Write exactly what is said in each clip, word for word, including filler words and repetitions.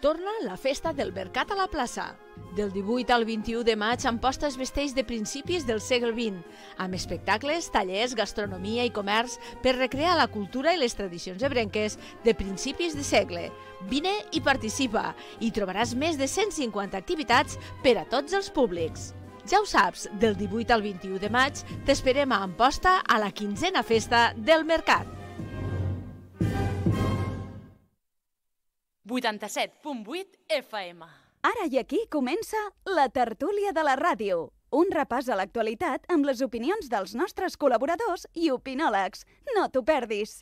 Torna la festa del Mercat a la plaça. Del divuit al vint-i-u de maig, Amposta es vesteix de principis del segle vint, amb espectacles, tallers, gastronomia i comerç per recrear la cultura i les tradicions ebrenques de principis de segle. Vine i participa, i trobaràs més de cent cinquanta activitats per a tots els públics. Ja ho saps, del divuit al vint-i-u de maig t'esperem a Amposta a la quinzena festa del Mercat. vuitanta-set punt vuit F M. Ara i aquí comença la tertúlia de la ràdio. Un repàs a l'actualitat amb les opinions dels nostres col·laboradors i opinòlegs. No t'ho perdis.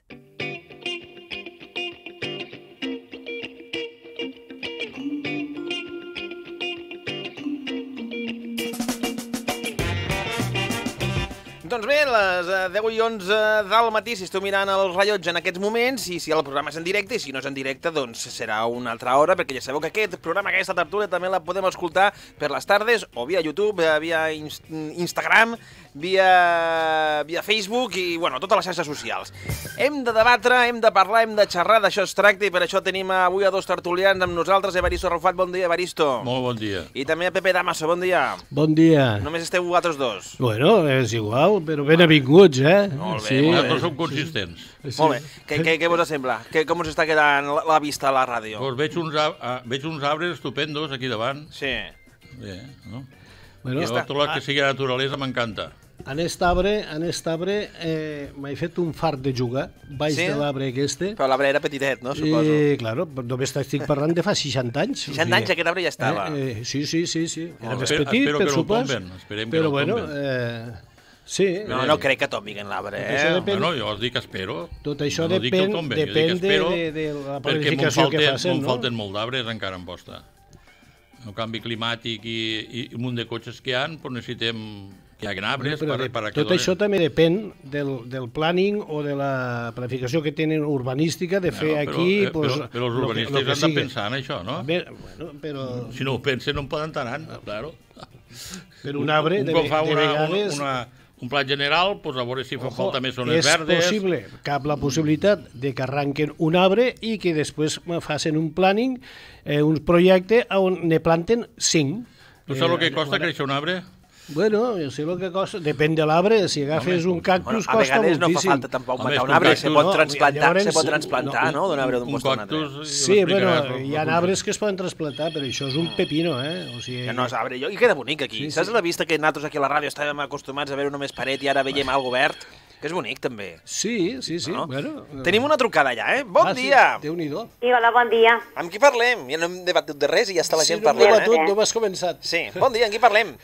Doncs bé, les deu i onze del matí, si esteu mirant el rellotge en aquests moments, i si el programa és en directe, i si no és en directe, doncs serà una altra hora, perquè ja sabeu que aquest programa, aquesta tertúlia, també la podem escoltar per les tardes, o via YouTube, via Instagram, via, via Facebook i, bueno, totes les xarxes socials. Hem de debatre, hem de parlar, hem de xerrar, d'això es tracta, i per això tenim avui a dos tertulians amb nosaltres. Evaristo Arrufat, bon dia, Evaristo. Molt bon dia. I també a Pepe Damaso, bon dia. Bon dia. Només esteu vosaltres dos. Bueno, és igual, però ben avinguts, eh? Molt bé, sí, molt bé. Nosaltres som consistents. Sí. Molt bé. Què, què, què vos sembla? Que, com us està quedant la, la vista a la ràdio? Pues veig, uns, a, veig uns arbres estupendos aquí davant. Sí. Bé, no? Bueno, I tot el que sigui naturalesa m'encanta. en aquest arbre, en aquest arbre eh, m'he fet un fart de jugar baix Sí? de l'arbre aquest. Però l'arbre era petitet, no? Suposo. I, claro, només estic parlant de fa seixanta anys. seixanta anys aquest arbre ja estava. Eh, eh, sí, sí, sí, sí. Era Molt bé. més petit, Espero per que no el sopes. tomben, esperem que però no el bueno, tomben. eh, sí. No, no crec que tombiguen l'arbre, Això eh? depèn- Bueno, jo els dic espero. Tot això no dic que el depèn, tomben, jo dic depèn de, espero, de, de la perquè me'n planificació que falten, facin, me'n no? falten molt d'arbres encara en posta. El canvi climàtic i, i un munt de cotxes que hi ha, doncs necessitem que hi hagi arbres Però per, de, per a que tot donen. això també depèn del, del planning o de la planificació que tenen urbanística de fer Bueno, però, aquí... eh, pues, però, però els lo que- urbanistes lo que han de sigui. pensar en això, no? Bé, bueno, però Si no ho pensen no en poden anar, claro. per un arbre, un de, cop fa de una, vegades... una, un pla general, doncs a veure si fa falta més zones és verdes. possible, cap la possibilitat de que arranquen un arbre i que després facin un planning, eh, un projecte on ne planten cinc. Tu saps el que Eh, costa créixer un arbre? Bueno, jo sé el que costa, depèn de l'arbre, si agafes Home, un cactus Bueno, a costa vegades no fa moltíssim. falta tampoc Home, matar és un que un arbre, cactus se pot no, transplantar, llavors, se pot transplantar, no, no? D'un arbre d'un Un post a un altre. cactus... Sí, bueno, m'explicaràs hi ha el- arbres que es poden trasplantar, però això és un pepino, eh? O sigui, Ja no és arbre, jo, i queda bonic aquí. Sí, sí. Saps la vista que nosaltres aquí a la ràdio estàvem acostumats a veure només paret i ara veiem algo verd? Que és bonic, també. Sí, sí, sí. No? Bueno, Tenim una trucada ja, eh? Bon ah, dia! Sí, Déu-n'hi-do. Sí, hola, bon dia. Amb qui parlem? Ja no hem debatut de res i ja està la Sí, gent no hem parlant, debatut, eh? no has començat. Sí, bon dia, amb qui parlem?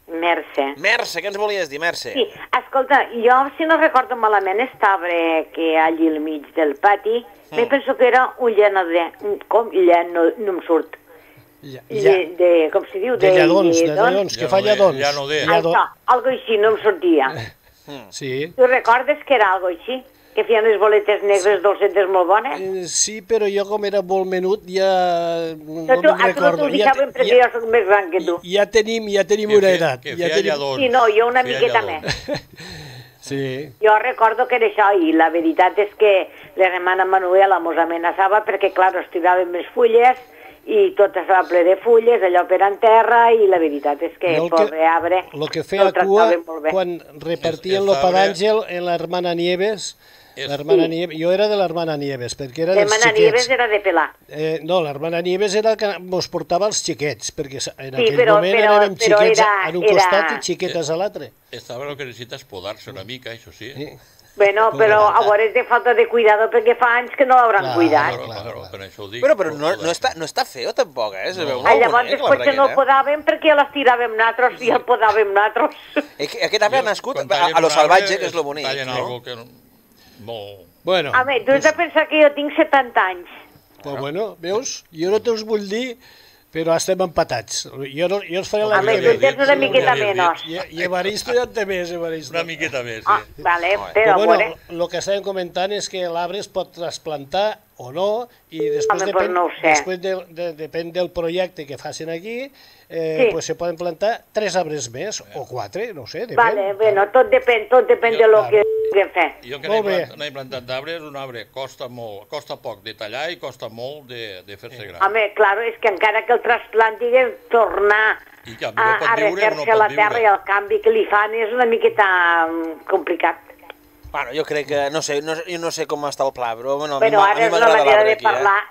Mercè. Mercè, què ens volies dir, Mercè? Sí, escolta, jo, si no recordo malament, aquest arbre que hi ha allí al mig del pati, mm. me penso que era un llenader, com llen, no, no em surt. Ja, De, ja. de, com se diu? De lladons, de lledons. lladons, que Ja fa no de- lladons. ja no de. Lladó- Això, algo així, no em sortia. Sí. Tu recordes que era algo així? Que feien les boletes negres dolcetes molt bones? Eh, sí, però jo com era molt menut ja no No, tu, me'n a tu no recordo. t'ho deixaven perquè ja, jo soc més gran que tu. ja tenim, ja tenim Que una fe- edat. Que ja feia tenim... lladons. Sí, no, jo una Feia miqueta lladons. més. Sí. Jo recordo que era això, i la veritat és que l'hermana Manuela mos amenaçava perquè, clar, es tiraven més fulles i tot estava ple de fulles, allò per en terra, i la veritat és que, El que- pobre arbre, Lo que no feia el cua tractaven molt bé. quan repartien Es- lo es pa arbre- d'àngel en la hermana Nieves. Es- L'hermana Sí. Nieves. Jo era de l'hermana Nieves, perquè era dels L'hermana xiquets. Nieves era de pelar. Eh, no, l'hermana Nieves era el que mos portava els xiquets, perquè en Sí, aquell però- moment però- érem però xiquets era- en un era- costat i xiquetes a l'altre. Estava el que necessita és podar-se una mica, això sí. Sí. Bueno, però a veure, és de falta de cuidado perquè fa anys que no l'hauran Clar, cuidat. Claro, clar, claro, clar. per això ho dic. Però, però no, no, està, no està feo tampoc, eh? Se veu Ah, molt llavors bonic, després que no el l'arbre podàvem perquè les tiràvem nosaltres i el podàvem nosaltres. aquest, eh? Aquest arbre ha nascut Quan a, tallen a lo un salvatge, arbre, que és lo bonic, tallen no? algo que no... Molt... Bueno, A veure, tu has de pensar que jo tinc setanta anys. pues bueno, veus? Jo no te'ls vull dir, però estem empatats. Jo, no, jo els faré la A veure, ja tu tens una ja miqueta havia dit. menys. I, i Evaristo ja en té més, Evaristo. Una miqueta més, Ah, sí. vale, Molt bé. però a Però veure... bueno, el que estàvem comentant és que l'arbre es pot trasplantar o no, i després, Home, depèn, pues no ho sé. després de, de, depèn del projecte que facin aquí, eh, Sí. pues se poden plantar tres arbres més, o quatre, no ho sé, depèn. Vale, bueno, tot depèn, tot depèn Jo- de lo Claro. que puguem fer. Jo que Molt n'he bé. plant, n'he plantat d'arbres, un arbre costa molt, costa poc de tallar i costa molt de, de fer-se gran. Home, claro, és que encara que el trasplant diguem tornar I que a, no pot a viure o no refer-se a pot la terra viure. i el canvi que li fan és una miqueta mm, complicat. Bueno, jo crec que, no sé, no, jo no sé com està el pla, però bueno, a mi Però m'a- a ara mi és una m'agrada manera l'arbre de aquí, eh? parlar,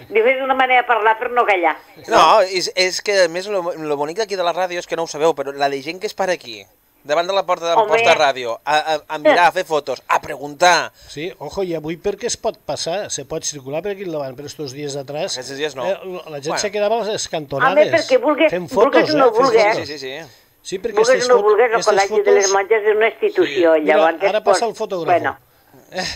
diu, és una manera de parlar per no callar. No, és, és que a més lo, lo bonic d'aquí de la ràdio és que no ho sabeu, però la de gent que es para aquí, davant de la porta Home. d'Amposta Ràdio, a, a, a mirar, a fer fotos, a preguntar. Sí, ojo, i avui perquè es pot passar, se pot circular per aquí endavant, però estos dies atrás... Aquests dies no. Eh, la gent Bueno. se quedava a les Home, cantonades, perquè vulgues, fent fotos, vulgues o no eh, fent vulgues, fotos. Sí, sí, sí. Sí, perquè vulgues aquestes o no fotos- vulgues, el aquestes Col·legi de les fotos- Monges és una institució. Mira, llavors, ara pues, passa el fotògrafo. Bueno,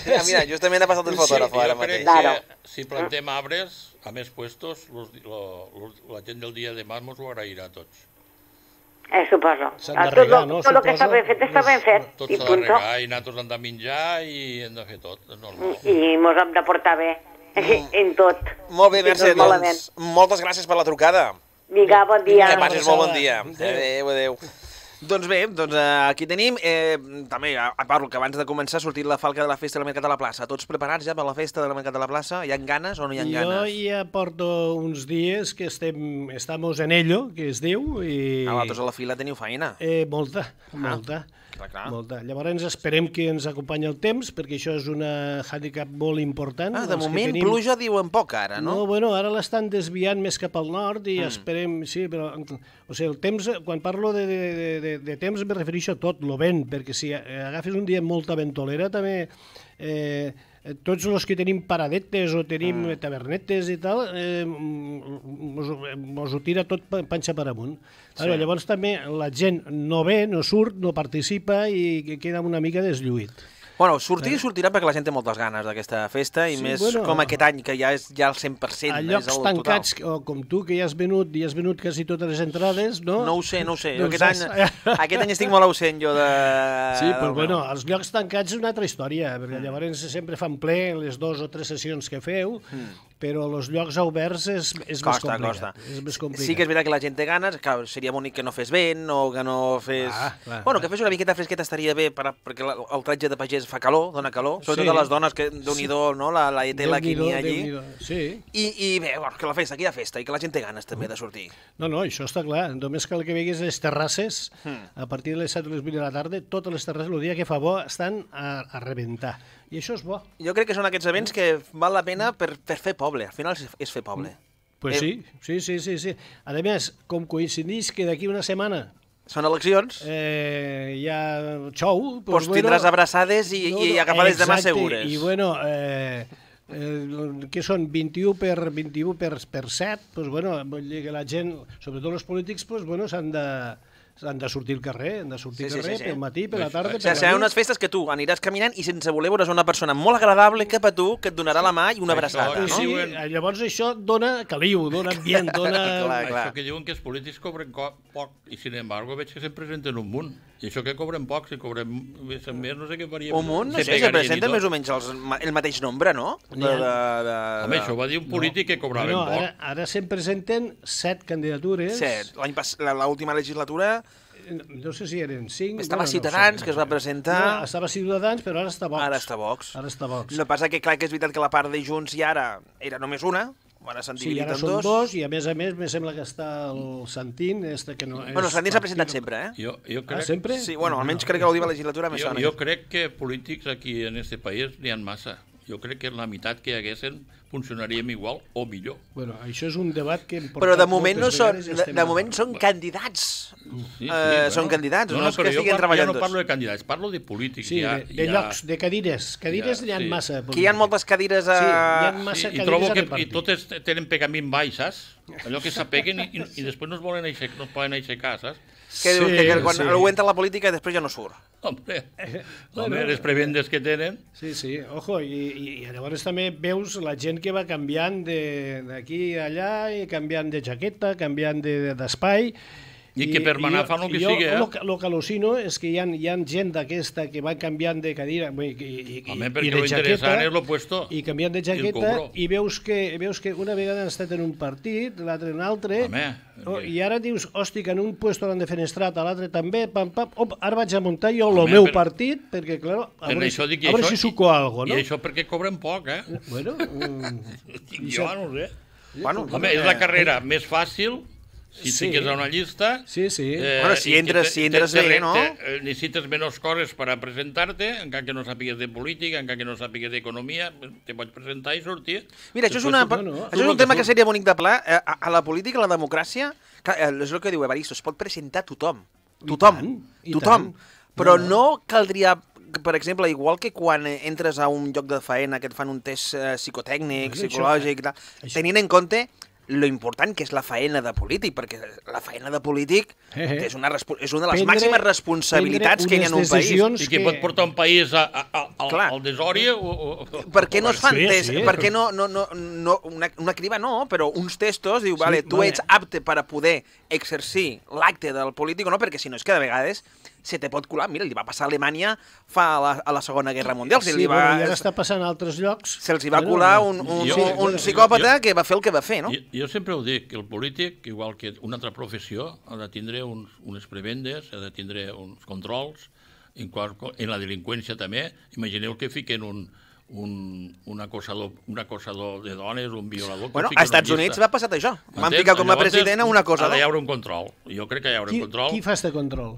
Mira, mira, justament ha passat el fotògraf ara Jo crec mateix. Claro. que si plantem arbres a més puestos, los, lo, los, la gent del dia de demà mos ho agrairà a tots. eh, suposo. S'han de Tot lo, regar, no? tot el que està Suposo. ben fet està ben fet. Tot I s'ha de punto. regar i nosaltres hem de menjar i hem de fer tot, és normal. I mos hem de portar bé en tot. Molt bé, I Mercè, tot malament. doncs moltes gràcies per la trucada. Vinga, bon dia. Que passis molt bon abraçada. dia. Adéu, adéu. Doncs bé, doncs eh, aquí tenim, eh, també, a, a part que abans de començar ha sortit la falca de la festa del Mercat de la Plaça. Tots preparats ja per la festa del Mercat de la Plaça? Hi ha ganes o no hi ha Jo ganes? ja porto uns dies que estem, estamos en ello, que es diu, i... Ah, vosaltres a la fila teniu feina. Eh, molta, molta. Clar, clar. Molta. Llavors esperem que ens acompanyi el temps, perquè això és un hàndicap molt important. Ah, de els que moment tenim. pluja diuen poc ara, No, no? bueno, ara l'estan desviant més cap al nord i Mm. esperem, sí, però... O sigui, el temps, quan parlo de, de, de, de, de temps me refereixo a tot, lo vent, perquè si agafes un dia amb molta ventolera també... Eh, tots els que tenim paradetes o tenim mm. tavernetes i tal, eh, mos, mos ho tira tot pa- panxa per amunt. Sí. Ara, llavors també la gent no ve, no surt, no participa i que queda una mica deslluït. Bueno, sortir sortirà perquè la gent té moltes ganes d'aquesta festa i Sí, més bueno, com aquest any, que ja és ja el cent per cent. A és llocs el tancats, total. o com tu, que ja has venut, i has venut quasi totes les entrades, no? No ho sé, no ho sé. Jo Doncs aquest, any, has- aquest any estic molt ausent, jo, de... Sí, del però meu. bueno, els llocs tancats és una altra història, perquè llavors sempre fan ple les dues o tres sessions que feu, però els llocs oberts és, és més Costa, complicat. costa. És més complicat. Sí que és veritat que la gent té ganes, clar, seria bonic que no fes vent o que no fes... Ah, clar, bueno, clar. que fes una miqueta fresqueta estaria bé, per, perquè la, el tratge de pagès fa calor, dona calor, sobretot Sí. a les dones, que déu-n'hi-do, no?, la, la tela que n'hi ha allí. Déu-n'hi-do, sí. I, I bé, bueno, que la festa, que hi ha festa i que la gent té ganes també de sortir. No, no, això està clar. Només cal que veguis les terrasses, Hmm. a partir de les set o les vuit de la tarda, totes les terrasses, el dia que fa bo, estan a, a rebentar. I això és bo. Jo crec que són aquests events que val la pena per, per fer poble, al final és, és fer poble. Pues Eh, sí, sí, sí, sí, sí. A més, com coincidís que d'aquí una setmana Són eleccions, eh, hi ha xou... doncs tindràs abraçades i, i agafades de mà exacte, segures. I bueno, eh, eh, que són vint-i-u per vint-i-u per, per set, doncs bueno, vull dir que la gent, sobretot els polítics, doncs bueno, s'han de s'han de sortir al carrer, han de sortir Sí, al sí, carrer sí, sí. pel matí, per la tarda, O per sigui, la seran nit. unes festes que tu aniràs caminant i sense voler veuràs una persona molt agradable cap a tu que et donarà la mà i una abraçada, Això, no? Sí, diuen- eh, llavors això dona caliu, dona ambient, dona... Clar, clar. Això que diuen que els polítics cobren co- poc i, sin embargo, veig que se'n presenten un munt. I això que cobren poc, si cobren més, més no sé què faríem. Un munt, no Se sé, se pegarien i presenta tot. més o menys els, el mateix nombre, no? De, de, de, Home, això ho va dir un polític que cobraven No, poc. ara, ara se'n presenten set candidatures. Set. L'any pas- la- l'última legislatura No sé si eren cinc... estava bueno, no ho Ciutadans, sé. que es va No, presentar... estava Ciutadans, però ara està Vox. Ara està Vox. Ara està Vox. El que passa que, clar, que és veritat que la part de Junts i ara era només una, ara s'han Sí, dividit ara en són dos. dos, i a més a més, me sembla que està el Santín, este que no és... Bueno, el Santín s'ha presentat partit- sempre, eh? Jo, jo Ah, crec, sempre? Sí, bueno, almenys crec que l'última legislatura me jo, sona. jo crec que polítics aquí en este país n'hi ha massa. Jo crec que la meitat que hi haguessin funcionaríem igual o millor. Bueno, això és un debat que hem portat Però de moment, no moltes són, vegades i de, estem- de moment són candidats. Sí, Eh, són candidats, no és però que jo estiguin parlo- treballant Jo no tots. parlo de candidats, parlo de polítics. Sí, hi ha, de, de hi ha- llocs, de cadires. Cadires hi ha- n'hi ha sí. massa. Que hi ha moltes cadires a... Sí, hi ha massa Sí, i cadires trobo a que i repartir. totes tenen pegament baix, saps? Allò que s'apeguen i, i, i després no es volen aixecar, no es poden aixecar, saps? Que dius que, que quan sí. algú entra a la política després ja no surt. Hombre, bueno. home, les prebendes que tenen... Sí, sí, ojo, i, i, i llavors també veus la gent que va canviant de- d'aquí a allà, i canviant de jaqueta, canviant de- d'espai, I que per manar fan el que sigui, eh? Jo el que al·lucino és que hi ha, hi ha gent d'aquesta que va canviant de cadira i, i, Home, i perquè de lo interessant jaqueta, és lo puesto. i canviant de jaqueta, i veus que, veus que una vegada han estat en un partit, l'altre en un altre, Home, oh, que- i ara dius, hosti, que en un puesto l'han defenestrat, a l'altre també, pam, pam, op, ara vaig a muntar jo el Home, meu per- partit, perquè, clar, a Per veure, això dic, a veure això- si suco algo, no? I això perquè cobren poc, eh? Bueno, mm, Dic jo, no ho sé. Bueno, Home, és la carrera més fàcil, si Sí. et fiques a una llista. sí, sí. Bueno, si i que entres- te- si entres te- te- bé, no? te- eh, Necessites menys coses per a presentar-te, encara que no sàpigues de política, encara que no sàpigues d'economia, te pots presentar i sortir. Mira, això és, una, Després, no, no. això és un tema que seria bonic de pla. Eh, A, a la política, a la democràcia, clar, eh, és el que diu Evaristo, es pot presentar tothom. Tothom. tant, i Tothom. tant. Però No, no caldria, per exemple, igual que quan eh, entres a un lloc de faena que et fan un test eh, psicotècnic, Bueno, això- psicològic, i tal, això- tenint en compte lo important que és la faena de polític, perquè la faena de polític Eh, eh. que és, una, respo- és una de les Prendre- màximes responsabilitats prendre que hi ha en un unes país. decisions I que que- pot portar un país a, a, a, al, Clar. al desori o... o, o Per què no es fan Sí, tests? sí. Per què no, no, no, no una, una criba no, però uns testos, diu, Sí, vale, tu vale. ets apte per a poder exercir l'acte del polític o no, perquè si no és que de vegades se te pot colar. Mira, li va passar a Alemanya fa a la, a la Segona Guerra Mundial. Sí, se li va, bueno, i ara està passant a altres llocs. Se'ls hi va Bueno, colar un, un, jo- un, un jo- psicòpata jo- que va fer el que va fer, no? Jo, jo sempre ho dic, que el polític, igual que una altra professió, ha de tindre uns, unes prebendes, ha de tindre uns controls, en, qual, en la delinqüència també. Imagineu que fiquen un, un, un, acosador, un acosador de dones, un violador... que Bueno, fiquen a Estats una Units llista. va passar això. Van M'entens? ficar com a Llavors, president a una cosa, Ha d'hi no? haure un control. Jo crec que hi haurà Qui, un control. qui fa este control?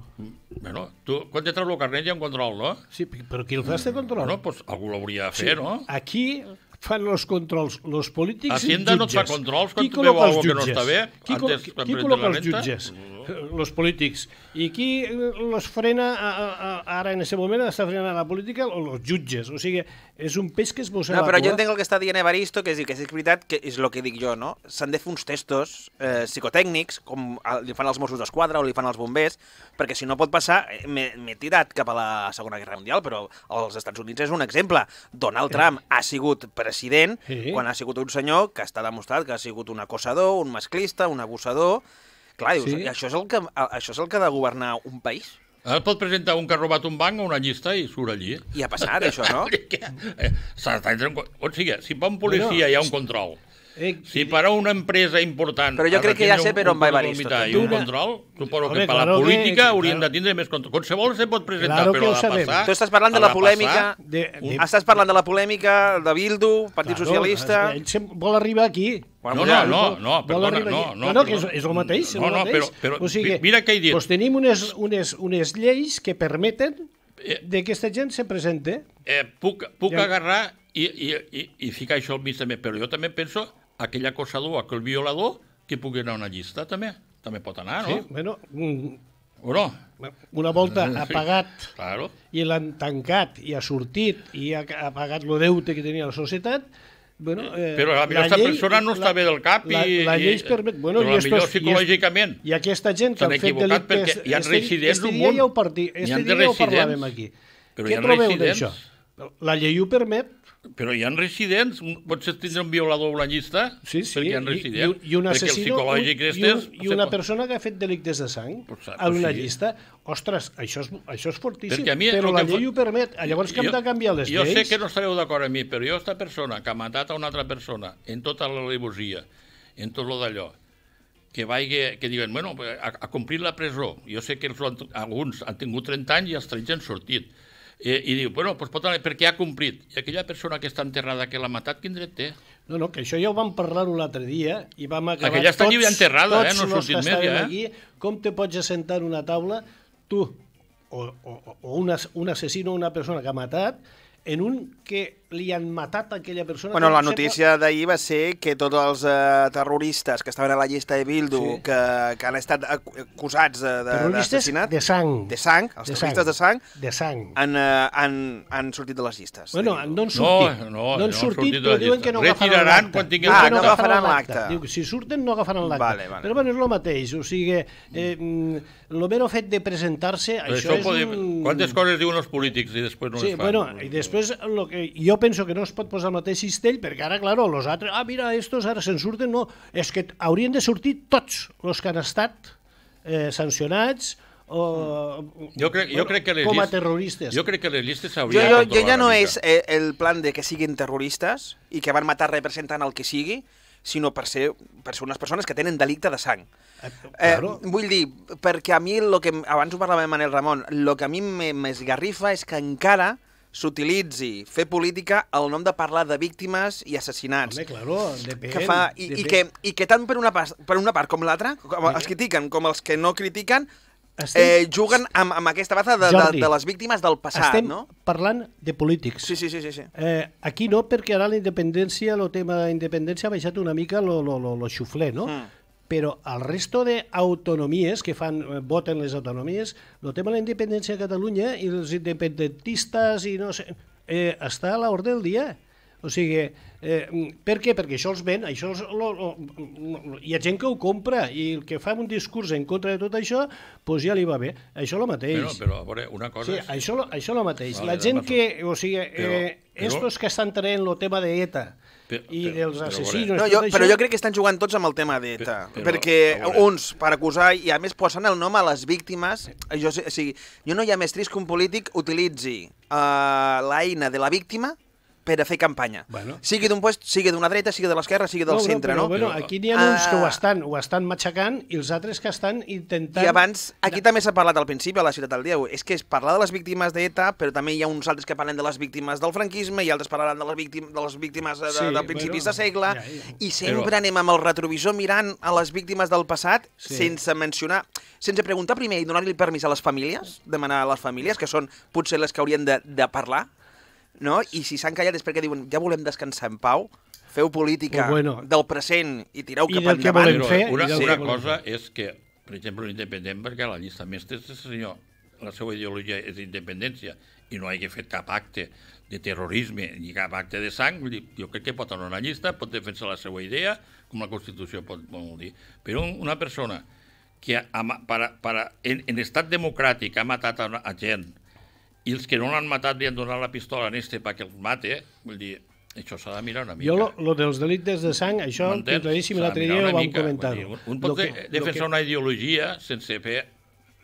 Bueno, tu, quan te treus el carnet hi ha un control, no? Sí, però qui el fa este control? Bueno, pues algú l'hauria de fer, no? Aquí fan los controls los polítics Hacienda i no jutges. et fa controls quan Qui tu veu col·loca els algo que no jutges? està bé, Qui, col antes, qui, quan qui presenten col·loca la els renta? jutges? Els polítics. I qui los frena a, a, a, ara en aquest moment està frenant la política? Els jutges. O sigui, és un peix que es mossega No, però la jo cua. entenc el que està dient Evaristo, que és, dir, que és veritat, que és el que dic jo, no? S'han de fer uns testos eh, psicotècnics, com li fan els Mossos d'Esquadra o li fan els bombers, perquè si no pot passar... eh, M'he m'he tirat cap a la Segona Guerra Mundial, però als Estats Units és un exemple. Donald Trump ha sigut president Sí. quan ha sigut un senyor que està demostrat que ha sigut un acosador, un masclista, un abusador... Clar, dius, Sí. i això és, el que, això és el que ha de governar un país? Ara pot presentar un que ha robat un banc a una llista i surt allí. I ha passat, això, no? Eh, s'ha d'entrar en co- O sigui, si per un policia Bueno, hi ha un control, Eh, si per a una empresa important... Però jo ha de crec que ja tindre sé un- per on un va cordó Evaristo, mitjà I tu un una- control, suposo Home, que per a la claro que- política haurien claro. de tindre més control. Qualsevol se pot presentar, Claro que però ho ha de sabem. passar... Tu estàs parlant de ha la passar. polèmica... de, de, Estàs parlant de la polèmica de Bildu, Partit Claro, Socialista... Ell sem- vol arribar aquí. Bueno, No, ja, no, no, Vol- no, vol perdona, arribar no, aquí. no. no, que és, perdona. és el mateix, és No, el no, mateix. però, però o sigui, mira què he dit. Doncs tenim unes, unes, unes lleis que permeten Eh, de que aquesta gent se presente. eh, puc puc Ja- agarrar i, i, i, i ficar això al mig també, però jo també penso aquell acosador, aquell violador, que pugui anar a una llista també. També pot anar, no? Sí, bueno, mm, O no? una volta ha Sí. pagat Claro. i l'han tancat i ha sortit i ha, ha pagat el deute que tenia la societat, bueno, eh, Però a la aquesta persona no està bé del cap la, i... la llei i- es permet... Bueno, però i potser estos- i es- psicològicament. I aquesta gent que S'han han fet equivocat delictes... perquè hi ha este- residents este un dia munt. ja ho, parti, N'hi este han de dia ja ho residents. parlàvem aquí. Però Què hi ha trobeu residents. d'això? La llei ho permet, Però hi ha residents, un- pots tindre un violador a la llista? sí, sí, Perquè hi ha i, residents. i, i un perquè el assassino psicològic un, i, este un, és- i una persona que ha fet delictes de sang Pues, a una pues sí. llista. Ostres, això és, això és fortíssim, Perquè a mi però el la que fa- llei ho permet. Llavors que hem de canviar les jo lleis... sé que no estareu d'acord amb mi, però jo, aquesta persona que ha matat a una altra persona en tota la levosia, en tot lo d'allò, que vagi, que diuen, bueno, ha, ha complit la presó. Jo sé que els, han- alguns han tingut trenta anys i els tretze han sortit. Eh, I diu, bueno, doncs pot anar, perquè ha complit. I aquella persona que està enterrada, que l'ha matat, quin dret té? No, no, que això ja ho vam parlar un altre dia i vam acabar Aquella està tots, allí enterrada, eh? tots No ha los sortit que més, estàvem ja, eh? aquí, com te pots assentar en una taula, tu, o, o, o un, as, un assassino o una persona que ha matat, en un que li han matat a aquella persona... Bueno, la que notícia d'ahir va ser que tots els eh, terroristes que estaven a la llista de Bildu, Sí. que, que han estat ac- acusats de- de- Terroristes d'assassinat... de sang. De sang, els De terroristes sang. de sang, De sang. han, eh, han, han sortit de les llistes. Bueno, de Bildu. no han sortit. No, no, no han no han sortit, sortit de però la diuen llista. que no agafaran Retiraran l'acte. quan tinguin Ah, Diuen que no agafaran l'acte. Diu que si surten no agafaran l'acte. Vale, vale. Però bueno, és el mateix. O sigui, eh, el mero fet de presentar-se, Però això, això és podem... un... Quantes coses diuen els polítics i després no Sí, les fan? bueno, i després lo que jo penso que no es pot posar al mateix cistell, perquè ara, claro, los altres, ah, mira, estos ara se'n surten, no, és que haurien de sortir tots els que han estat eh, sancionats o jo crec, jo crec que les com a llistes, terroristes. Jo crec que les llistes Jo, s'haurien jo, de jo controlar ja no una és mica. eh, el plan de que siguin terroristes i que van matar representant el que sigui, sinó per ser, per ser unes persones que tenen delicte de sang. Eh, Eh, claro. vull dir, perquè a mi, lo que, abans ho parlava amb Manel Ramon, el que a mi m'esgarrifa és que encara s'utilitzi fer política al nom de parlar de víctimes i assassinats. Home, claro, depèn. Que fa, i, i, que, I que tant per una, pas, per una part com l'altra, com els critiquen com els que no critiquen, Estem... eh, juguen amb, amb aquesta baza de, Jordi, de, de les víctimes del passat, estem no? parlant de polítics. Sí, sí, sí, sí, sí. Eh, aquí no, perquè ara la independència, el tema de la independència ha baixat una mica lo, lo, lo, lo xufler, no? Mm. Però al resto d'autonomies que fan, eh, voten les autonomies, el tema de la independència a Catalunya i els independentistes i no sé, eh, està a l'ordre del dia. O sigui, eh, per què? Perquè això els ven, això els, lo, lo, lo, hi ha gent que ho compra i el que fa un discurs en contra de tot això, doncs ja li va bé. Això el mateix. Però, però, a veure, una cosa Sí, és... això, això el mateix. Vale, La gent doncs, que, o sigui, però- eh, però- estos que estan traient el tema d'ETA Però- i però- dels però, assassinos... No, tot jo, això, però jo crec que estan jugant tots amb el tema d'ETA, Però- perquè a veure. uns per acusar i a més posen el nom a les víctimes. Jo, sé- o sigui, jo no hi ha més trist que un polític utilitzi uh, l'eina de la víctima per a fer campanya. Bueno. Sigui d'un puest, sigui d'una dreta, sigui de l'esquerra, sigui del no, centre, però, no? Bueno, Però- aquí n'hi ha uns que ho Ah. estan, ho estan matxacant i els altres que estan intentant... I abans, aquí també s'ha parlat al principi, a la Ciutat del Dia, és que es parla de les víctimes d'ETA, però també hi ha uns altres que parlen de les víctimes del franquisme i altres parlaran de les víctimes, de les víctimes de, Sí, de principis bueno, de segle, ja, ja. i sempre anem amb el retrovisor mirant a les víctimes del passat Sí. sense mencionar, sense preguntar primer i donar-li permís a les famílies, demanar a les famílies, que són potser les que haurien de, de parlar, no? I si s'han callat és perquè diuen ja volem descansar en pau, feu política Pues bueno. del present i tireu I cap del que endavant. volem Però fer, una, i del una que volem cosa és que, per exemple, l'independent, perquè la llista mestra és el senyor, la seva ideologia és independència i no hagi fet cap acte de terrorisme ni cap acte de sang, vull dir, jo crec que pot anar a una llista, pot defensar la seva idea, com la Constitució pot vol dir. Però una persona que ha, para, para, en, en estat democràtic ha matat a, a gent i els que no l'han matat li han donat la pistola en este perquè els mate, vull dir, això s'ha de mirar una mica. Jo, lo, lo dels delictes de sang, això, M'entens? claríssim, S'ha de l'altre mirar dia una ho vam mica, comentar. vull dir, Un pot de, defensar una ideologia sense fer...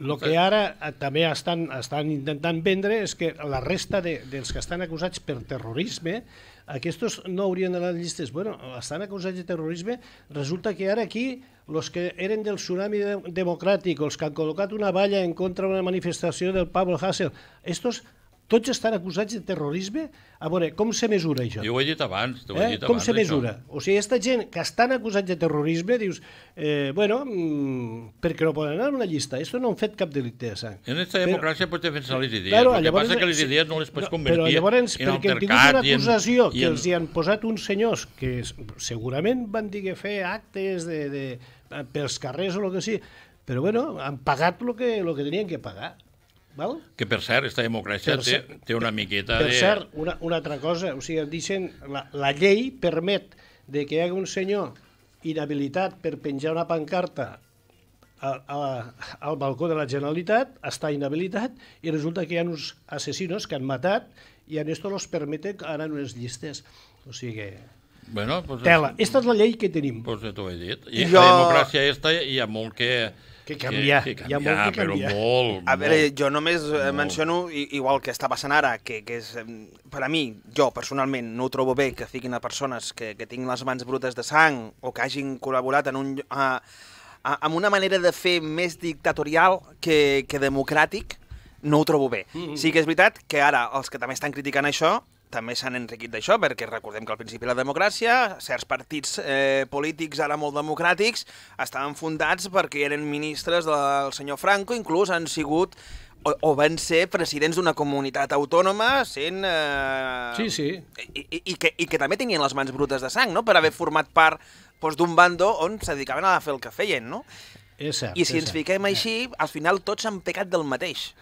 El que ara eh, també estan, estan intentant vendre és que la resta de, dels que estan acusats per terrorisme, aquests no haurien d'anar a les llistes. Bueno, estan acusats de terrorisme, resulta que ara aquí els que eren del tsunami de, democràtic, els que han col·locat una valla en contra d'una manifestació del Pablo Hasél, estos tots estan acusats de terrorisme? A veure, com se mesura això? Jo ho he dit abans, t'ho he Eh? dit Com abans, se això. mesura? O sigui, aquesta gent que estan acusats de terrorisme, dius, eh, bueno, mmm, perquè no poden anar a una llista? Esto no han fet cap delicte de sang. En aquesta democràcia pots defensar les idees. Claro, el que llavors, passa és que les sí, idees no les pots no, convertir però llavors, en perquè han tingut altercat una i en- acusació i que en- els hi han posat uns senyors que es- segurament van dir que fer actes de, de, pels carrers o el que sigui, però bueno, han pagat el que, lo que tenien que pagar. Val? Que, per cert, aquesta democràcia Per té, cert- té una miqueta Per de... cert, una, una altra cosa, o sigui, dicen, la, la llei permet de que hi hagi un senyor inhabilitat per penjar una pancarta a, a, al balcó de la Generalitat, està inhabilitat, i resulta que hi ha uns assassinos que han matat i a esto los permete anar en unes llistes. O sigui, Bueno, pues, tela. Esta és la llei que tenim. Pues t'ho he dit. I Jo- la democràcia esta hi ha molt que... Que canviar, Que, hi que ha canviar, molt que però canviar. molt, A veure, molt. jo només eh, Molt. menciono, i- igual que està passant ara, que, que és, em, per a mi, jo personalment no ho trobo bé que fiquin a persones que, que tinguin les mans brutes de sang o que hagin col·laborat en un, a, a, amb una manera de fer més dictatorial que, que democràtic, no ho trobo bé. Mm -hmm. Sí que és veritat que ara els que també estan criticant això també s'han enriquit d'això, perquè recordem que al principi la democràcia, certs partits eh, polítics ara molt democràtics estaven fundats perquè eren ministres del senyor Franco, inclús han sigut o, o van ser presidents d'una comunitat autònoma sent... Eh, Sí, sí. I, i, i, que, I que també tenien les mans brutes de sang, no?, per haver format part doncs, d'un bando on se dedicaven a fer el que feien, no? És cert. I si és ens cert. fiquem així, al final tots han pecat del mateix.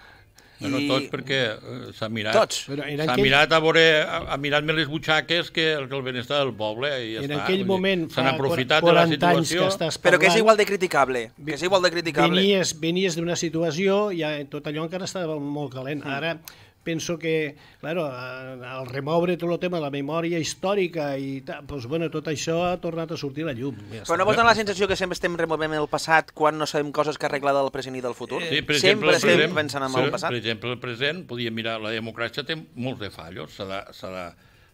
Bueno, tots perquè eh, s'ha mirat... Tots. Però en S'ha aquell- mirat a veure, ha, ha mirat més les butxaques que el, que el benestar del poble i ja En està. aquell Vull dir, moment, s'han fa aprofitat de la quaranta anys que situació. estàs Però que és parlant, igual de criticable, que és igual de criticable. Venies, venies d'una situació i ja tot allò encara estava molt calent. Ara, penso que, claro, al remoure tot el tema de la memòria històrica i tal, doncs, bueno, tot això ha tornat a sortir a la llum. Ja Però no vols donar la sensació que sempre estem removent el passat quan no sabem coses que arreglar del present i del futur? Sí, per sempre exemple, estem present, pensant en sí, el passat? Per exemple, el present, podíem mirar, la democràcia té molts de fallos, s'ha de, s'ha de,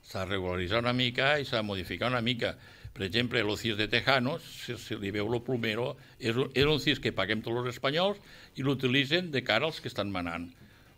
s'ha de regularitzar una mica i s'ha de modificar una mica. Per exemple, el C I S de Tejanos, si, si li veu lo plumero, és un, és un C I S que paguem tots els espanyols i l'utilitzen de cara als que estan manant.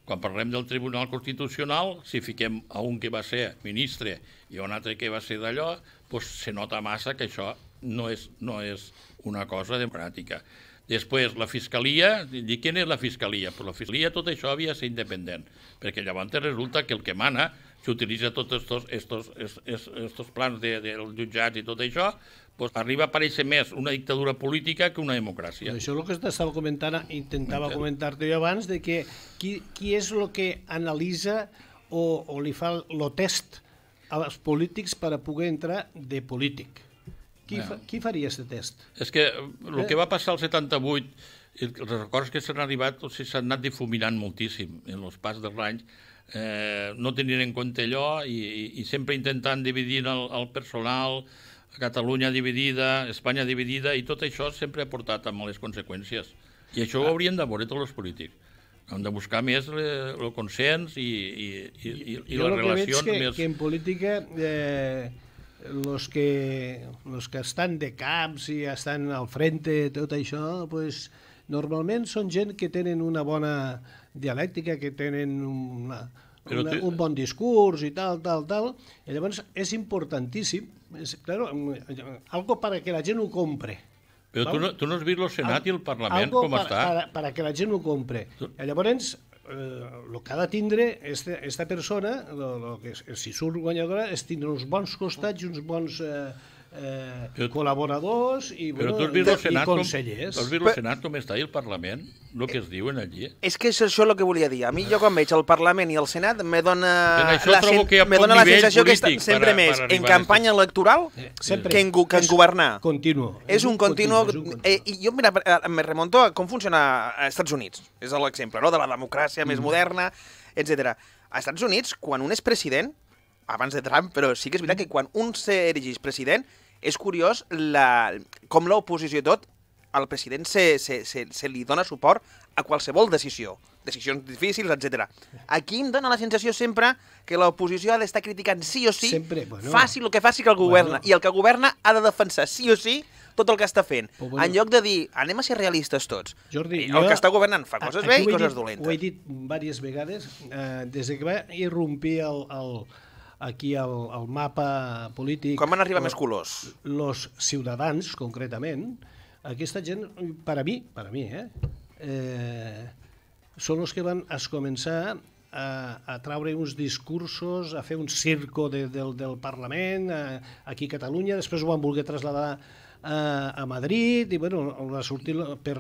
Quan parlem del Tribunal Constitucional, si fiquem a un que va ser ministre i a un altre que va ser d'allò, doncs se nota massa que això no és, no és una cosa democràtica. Després, la Fiscalia, dic, què és la Fiscalia? Pues la Fiscalia, tot això havia de ser independent, perquè llavors resulta que el que mana, s'utilitza tots estos, estos, estos, estos plans de, dels jutjats i tot això, pues arriba a parèixer més una dictadura política que una democràcia. Això és el que estava comentant, intentava comentar-te jo abans, de que qui, qui és el que analitza o, o li fa el test als polítics per a poder entrar de polític. Qui, fa, qui faria aquest test? És que el que va passar al setanta-vuit, els records que s'han arribat, o sigui, s'han anat difuminant moltíssim en els pas dels anys, eh, no tenint en compte allò i, i, i sempre intentant dividir el, el personal, Catalunya dividida, Espanya dividida, i tot això sempre ha portat a males conseqüències. I això ho haurien de veure tots els polítics. Hem de buscar més el consens i, i, i, i les relacions. Jo el que veig que, més... que en política eh, los que, los que estan de caps i estan al frente, tot això, pues, normalment són gent que tenen una bona dialèctica, que tenen una, una, un bon discurs i tal, tal, tal. I llavors és importantíssim, és, claro, algo para que la gent ho compre. Però tu no, tu no has vist el Senat i el Parlament algo com para, està? Para, para que la gent ho compre. I llavors, el eh, que ha de tindre este, esta persona, lo, lo que, si surt guanyadora, és tindre uns bons costats i uns bons eh, eh, però, col·laboradors i, però bueno, i, i consellers. Tu has vist el Senat com està i el Parlament? El que es diuen allí? És que és això el que volia dir. A mi, jo quan veig el Parlament i el Senat, me dona la, que me dona la sensació que està sempre para, més para en campanya electoral eh, que en, que en governar. Continuo. És un continuo. Eh, I jo, mira, me remonto a com funciona a Estats Units. És l'exemple, no?, de la democràcia mm. més moderna, etcètera. A Estats Units, quan un és president, abans de Trump, però sí que és veritat que quan un s'erigeix president, és curiós la, com l'oposició i tot, al president se, se, se, se li dona suport a qualsevol decisió, decisions difícils, etcètera. Aquí em dona la sensació sempre que l'oposició ha d'estar criticant sí o sí, sempre, bueno, faci el que faci que el governa, bueno, i el que governa ha de defensar sí o sí tot el que està fent, oh, bueno, en lloc de dir anem a ser realistes tots. Jordi, el jo, que està governant fa coses bé i coses dit, dolentes. Ho he dit diverses vegades, eh, des que va irrompir el, el, aquí el, el mapa polític... Quan van arribar el, més colors? Els ciutadans, concretament, aquesta gent, per a mi, per a mi, eh, eh, són els que van a començar a, a traure uns discursos, a fer un circo de, del, del Parlament, a, aquí a Catalunya, després ho van voler traslladar a, a Madrid, i bueno, va sortir, per,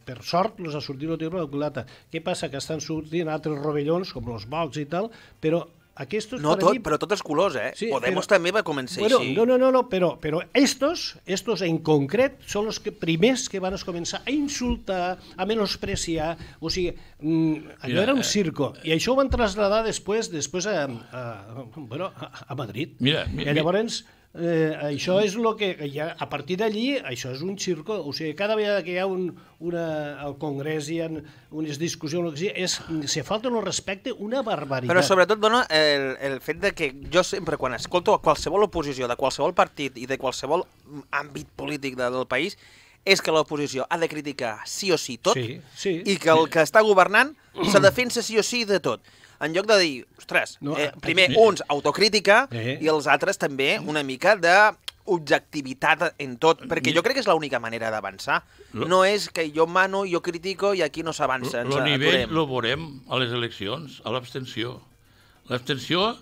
per sort, els ha sortit el tio de la culata. Què passa? Que estan sortint altres rovellons, com els Vox i tal, però aquestos, no tot, mi... però tots els colors, eh? Sí, Podemos però... també va començar bueno, així. No, no, no, no però, però estos, estos en concret, són els que primers que van començar a insultar, a menospreciar, o sigui, mmm, allò Mira, era un circo, eh... i això ho van traslladar després, després a, a, bueno, a, a Madrid. Mira, mi, I llavors... Eh, això és el que, ja, a partir d'allí, això és un circo, o sigui, cada vegada que hi ha un, una, al Congrés hi ha unes discussions, és, se falta el respecte, una barbaritat. Però sobretot dona el, el fet de que jo sempre, quan escolto qualsevol oposició de qualsevol partit i de qualsevol àmbit polític de, del país, és que l'oposició ha de criticar sí o sí tot, sí, sí. i que el que està governant se defensa sí o sí de tot. En lloc de dir, ostres, no, eh, primer eh, uns autocrítica eh. i els altres també una mica d'objectivitat en tot, perquè jo crec que és l'única manera d'avançar. No és que jo mano, jo critico i aquí no s'avança, ens aturem. El nivell lo veurem a les eleccions, a l'abstenció. L'abstenció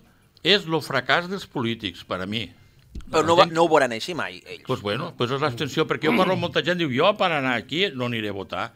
és el fracàs dels polítics, per a mi. Però no, no ho veuran així mai, ells. Doncs bueno, pues és l'abstenció, perquè jo parlo amb molta gent, diu, jo per anar aquí no aniré a votar.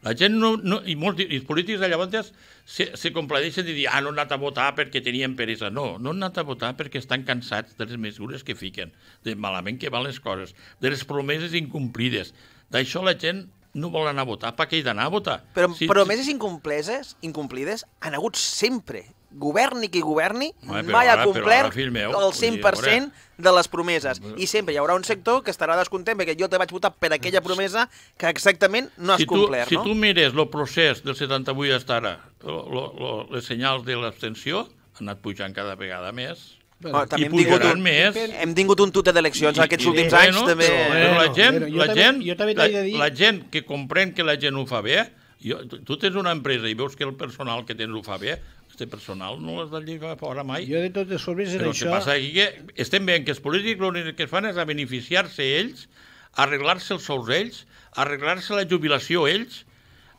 La gent no, no, i, molts, i els polítics de llavors se, se compladeixen de dir ah, no han anat a votar perquè tenien peresa. No, no han anat a votar perquè estan cansats de les mesures que fiquen, de malament que van les coses, de les promeses incomplides. D'això la gent no vol anar a votar, per què hi d'anar a votar? Però si, promeses incomplides, incomplides han hagut sempre. governi qui governi, Home, però mai ha ara- però complert ara, fill meu, el vull dir, cent per cent de les promeses. I sempre hi haurà un sector que estarà descontent perquè jo te vaig votar per aquella promesa que exactament no has si tu, complert, si no? tu mires el procés del setanta-vuit fins ara, lo, lo, lo, les senyals de l'abstenció han anat pujant cada vegada més. Oh, també I hem tingut, pujaran un, més. hem tingut un tute d'eleccions I- aquests i- últims bueno, anys, també. Però, però la Bueno, gent, bueno, jo la, també- gent jo també la, t'he de dir- la gent que comprèn que la gent ho fa bé, jo, tu, tu tens una empresa i veus que el personal que tens ho fa bé, este personal no l'has de lligar fora mai. Jo de totes formes en Però el això... que passa aquí que estem veient que els polítics l'únic que fan és a beneficiar-se ells, arreglar-se els sous ells, arreglar-se la jubilació ells,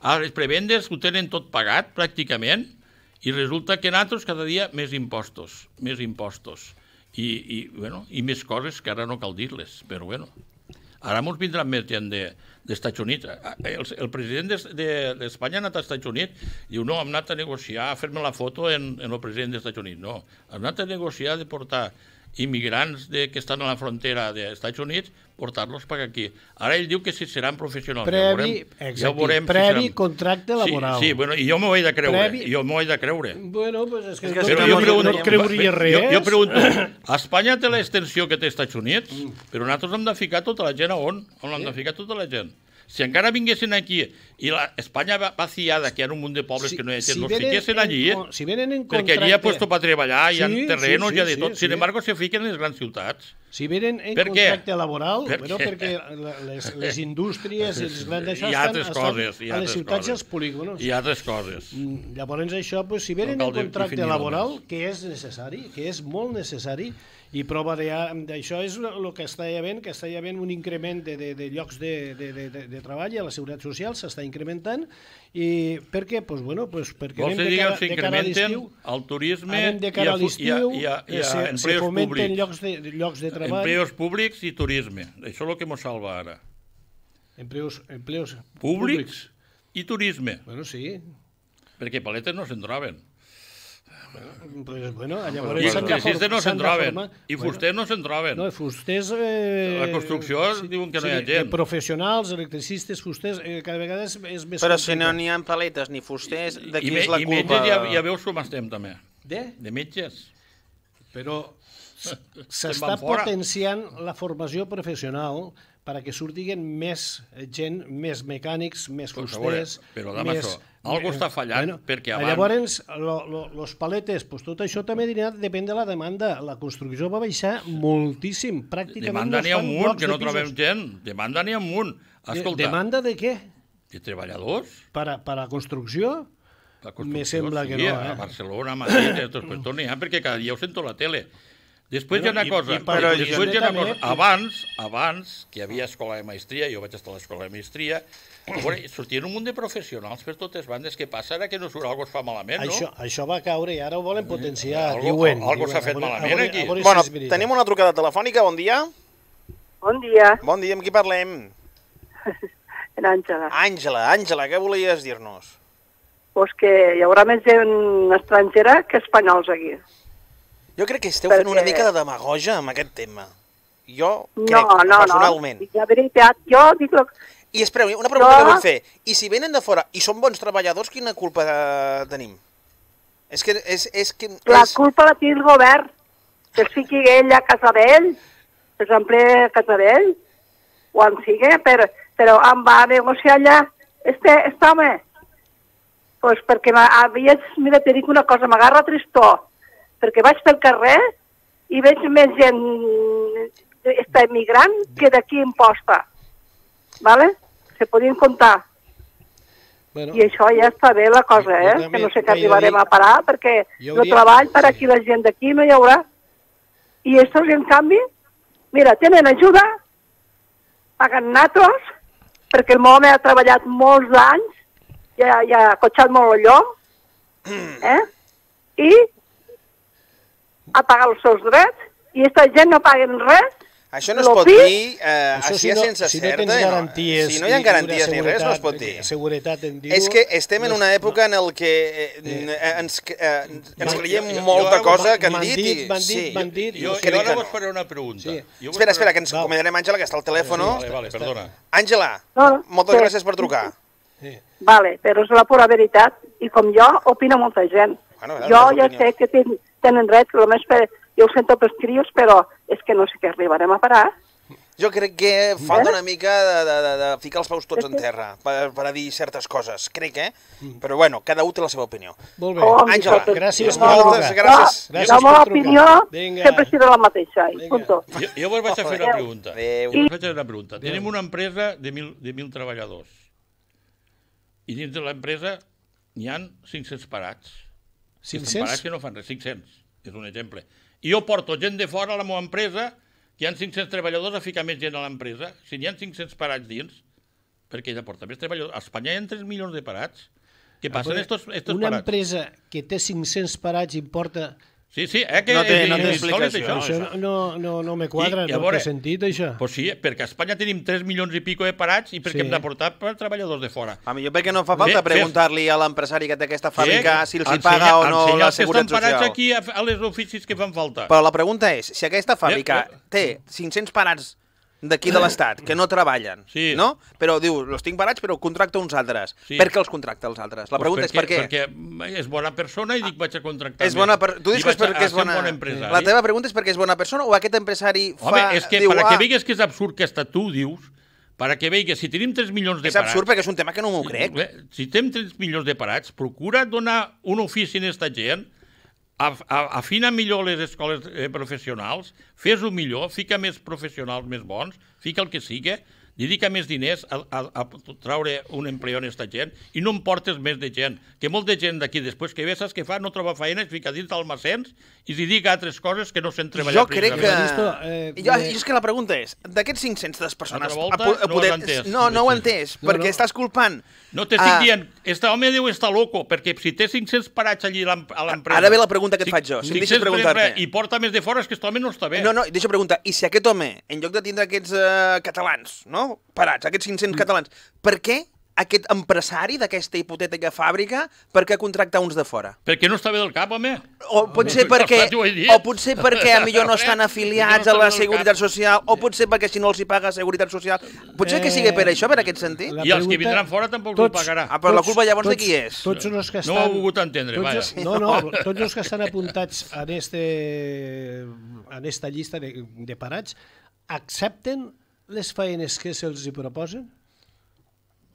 a les prebendes ho tenen tot pagat pràcticament, i resulta que nosaltres cada dia més impostos, més impostos. I, i, bueno, i més coses que ara no cal dir-les, però bueno. Ara ens vindrà més gent de, dels Estats Units. El, el president d'Espanya de, de ha anat als Estats Units, diu, no, hem anat a negociar, a fer-me la foto en, en el president dels Estats Units. No, hem anat a negociar de portar immigrants de, que estan a la frontera dels Estats Units, portar-los per aquí. Ara ell diu que si seran professionals. Previ, ja veurem, exacte, ja veurem previ si seran... contracte laboral. Sí, sí, bueno, i jo m'ho he de creure, Previ... jo m'ho he de creure. Bueno, pues és que, És que no, si Però no, jo no, pregunto, no et creuries res. jo, jo pregunto, Espanya té l'extensió que té als Estats Units, però nosaltres hem de ficar tota la gent a on? On l'hem de ficar tota la gent? Si encara vinguessin aquí i la Espanya vaciada, que hi ha un munt de pobles Si- que no hi ha gent, si los venen fiquessin en allí, con- si venen en perquè allí hi ha contracte- puesto per treballar, hi ha Sí, terrenos, sí, hi ha de sí, tot. sí, Sin sí. embargo, se fiquen en les grans ciutats. Si venen en Per què? contracte laboral, Per bueno, què? perquè la- les, les indústries i els grans d'això Hi ha estan, altres estan coses, hi ha a les altres ciutats i coses. als polígonos. I altres coses. Mm, Llavors això, pues, si venen No cal en contracte definir-ho laboral, més. que és necessari, que és molt necessari, i prova de- d'això és el que està havent, que està havent un increment de, de, de llocs de, de, de, de, de treball a la Seguretat Social, s'està incrementant, i per què? Pues, bueno, pues, perquè Vols anem que de diguem cara, si de cara a incrementen l'estiu, el turisme anem de i cara a, a fu- i a, l'estiu, i a, i eh, a se, se empleos fomenten públics. llocs de, llocs de treball, Empleos públics i turisme. Això és el que ens salva ara. empleos, empleos Públics i turisme. Bueno, sí. Perquè paletes no se'n troben. Pues, bueno, llavors I s'han de electricistes for- no s'han se'n de troben. formar. I fusters no se'n troben. No, fusters... Eh, La construcció diuen que no hi ha de- gent. De professionals, electricistes, fusters, eh, cada vegada és, és més Però si no complicat. n'hi ha paletes ni fusters, de I, qui me, és la i culpa? metges ja, ja veus com estem també. De? De metges. Però Se'n s'està van fora. potenciant la formació professional perquè surtiguen més gent, més mecànics, més Pues a veure, fusters... però, Damaso, algo està fallant, perquè abans- Llavors, lo, lo, los paletes, pues tot això també dirà, depèn de la demanda. La construcció va baixar moltíssim, pràcticament Demanda no es n'hi ha fan un munt, blocs que de no trobem pisos. gent. Demanda n'hi ha un munt. De- Escolta, Demanda de què? de treballadors? Per a, per a construcció? La construcció, Me sembla que sí, no, a eh? Barcelona, a Madrid, a tots, però n'hi ha, perquè cada dia ho sento a la tele. Després hi ha Bueno, una i- cosa, i per però això després hi ha una també- cosa. Abans, abans, que hi havia escola de maestria, jo vaig estar a l'escola de maestria, a veure, sortien un munt de professionals per totes bandes. Què passa ara que no surt, algo es fa malament, no? Això, això va caure i ara ho volen potenciar, Algo- diuen. algo diuen. s'ha fet A veure- malament a veure- aquí. a veure si Bueno, és veritat. tenim una trucada telefònica, bon dia. Bon dia, Bon dia, amb qui parlem? en Àngela. Àngela, Àngela, què volies dir-nos? Pues que hi haurà més gent estrangera que espanyols aquí. Jo crec que esteu Perquè- fent una mica de demagoja amb aquest tema. Jo No, crec, no, personalment. no. La veritat, jo dic... Lo... I espereu, una pregunta No. que vull fer. I si venen de fora i són bons treballadors, quina culpa eh, tenim? És que... És, és que La és... culpa la té el govern, que es fiqui ell a casa d'ell, que s'emplee a casa d'ell, o en sigui, però, però em va negociar allà este, este home. Pues perquè havia, mira, te dic una cosa, m'agarra tristor, perquè vaig pel carrer i veig més gent esta emigrant que d'aquí en posta, ¿vale? Se podien comptar. Bueno, I això ja està bé la cosa, Jo eh? també Que no sé vaig què arribarem dir- a parar, perquè Jo no hauria- treball per sí. aquí, la gent d'aquí no hi haurà. I estos, en canvi, mira, tenen ajuda, paguen natros, perquè el meu home ha treballat molts anys, ja, ja ha cotxat molt allò, eh? I ha pagat els seus drets, i aquesta gent no paguen res. Això no es Lo pot pi- dir eh, això així si no, sense si no certa. tens i garanties... Si no hi ha i- i garanties una ni res, no es seguretat- pot dir. Seguretat en dir És que estem en una època en el que eh, eh, ens, eh, ens creiem jo- jo molta ara cosa m'han- que han m'han dit. dit, i- m'han dit, sí. m'han dit. Jo, que jo dic ara que vos no. faré una pregunta. Sí. Jo vos Espera, espera, faré- que ens Val. acomiadarem, Àngela, que està al telèfon. Vale, vale, perdona. Àngela, No, no, moltes sí. gràcies per trucar. Sí. Vale, però és la pura veritat, i com jo, opina molta gent. Bueno, jo ja sé que ten, tenen dret, només per, jo ho sento pels crios, però és que no sé què arribarem a parar. Jo crec que falta una mica de, de, de, de ficar els peus tots en terra per, per a dir certes coses, crec, eh? Però bueno, cada un té la seva opinió. Molt bé. Oh, Àngela, gràcies. moltes gràcies. La, la meva opinió sempre serà la mateixa. I punto. Jo, jo vos vaig a fer una pregunta. Adéu. Jo vos vaig a fer una pregunta. Tenim una empresa de mil, de mil treballadors. I dins de l'empresa n'hi ha cinc-cents parats. cinc-cents? Parats que no fan res, cinc-cents, és un exemple. I jo porto gent de fora a la meva empresa, que hi ha cinc-cents treballadors a ficar més gent a l'empresa. Si n'hi ha cinc-cents parats dins, perquè ella porta més treballadors. A Espanya hi ha tres milions de parats. Què passen estos, estos una parats? empresa que té cinc-cents parats importa... Sí, sí, eh, que No té- és no té insòlit, explicació. això. Això no, no, no me quadra, I, no veure, té sentit, això. Pues sí, perquè a Espanya tenim tres milions i pico de parats i perquè Sí. hem d'aportar per treballadors de fora. A millor perquè no fa falta Fe- fe- preguntar-li a l'empresari que té aquesta fàbrica si els hi Ensenya- paga o no ensenya la els que Seguretat estan parats Social. aquí a, a les oficis que fan falta. Però la pregunta és, si aquesta fàbrica Eh, eh. té cinc-cents parats d'aquí de l'Estat que no treballen, Sí. no? Però diu, els tinc parats però contracta uns altres. Sí. Per què els contracta els altres? La pregunta Pues és per què. Perquè és bona persona i dic vaig a contractar És bona per... Tu dius I que és vaig a- perquè a és ser un bona... bon empresari. La teva pregunta és perquè és bona persona o aquest empresari fa... Home, és que diu, per a "Ah, que veigues que és absurd que hasta tu dius, per a que veigues, si tenim tres milions de és parats... absurd perquè és un tema que no m'ho crec. Eh, Si tenim tres milions de parats, procura donar un ofici a aquesta gent, af- a- afina millor les escoles eh, professionals, fes-ho millor, fica més professionals més bons, fica el que sigui, dedica més diners a, a, a traure un empleo a aquesta gent i no em portes més de gent. Que molta gent d'aquí, després que ve, saps què fa? No troba feina, es fica dins d'almacens i es dedica a altres coses que no sent treballar. Jo crec que... Visto, eh, Jo, jo és que la pregunta és, d'aquests cinc-cents persones... Altra volta, a po- a no ho poder- has entès. No, no ho he entès, No, perquè no. estàs culpant... No t'estic Ah. dient, este home deu estar loco, perquè si té cinc-cents parats allí a l'em- a l'empresa... Ara ve la pregunta que et faig jo, si em deixes cinc-cents per preguntar-te. empre- I porta més de fora, és que aquest home no està bé. No, no, deixa preguntar, i si aquest home, en lloc de tindre aquests uh, catalans, no?, parats, aquests cinc-cents catalans, per què aquest empresari d'aquesta hipotètica fàbrica, per què contractar uns de fora? Perquè no està bé del cap, home. O potser No, perquè, no, t'ho he dit. o potser perquè a millor no estan afiliats a la Seguretat Social, o potser perquè si no els hi paga Seguretat Social. Potser que sigui per això, per aquest sentit. La I els que pregunta- vindran fora tampoc tots- ho pagarà. Ah, però la culpa llavors de qui és? Tots els que No estan... ho he volgut entendre, tots, vaja. No, no, tots els que estan apuntats en, este, en esta llista de, de parats accepten les feines que se'ls hi proposen?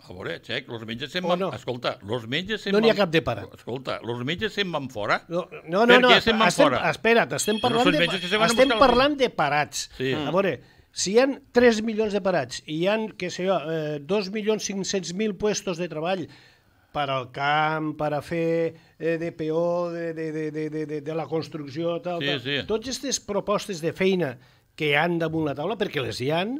A veure, xec, los metges se'n O van... no? Escolta, los metges se'n No n'hi ha van- cap de parat. Escolta, los metges se'n van fora. No, no, no, Per no què se'n van estem, fora? espera't, estem Però parlant, són de, metges que se van a estem buscar parlant de parats. Sí. A veure, si hi ha tres milions de parats i hi ha, què sé jo, eh, dos milions cinc-cents mil puestos de treball per al camp, per a fer eh, de peó, de, de, de, de, de, de, de la construcció, tal, Sí, tal. sí. Totes aquestes propostes de feina que hi han damunt la taula, perquè les hi han,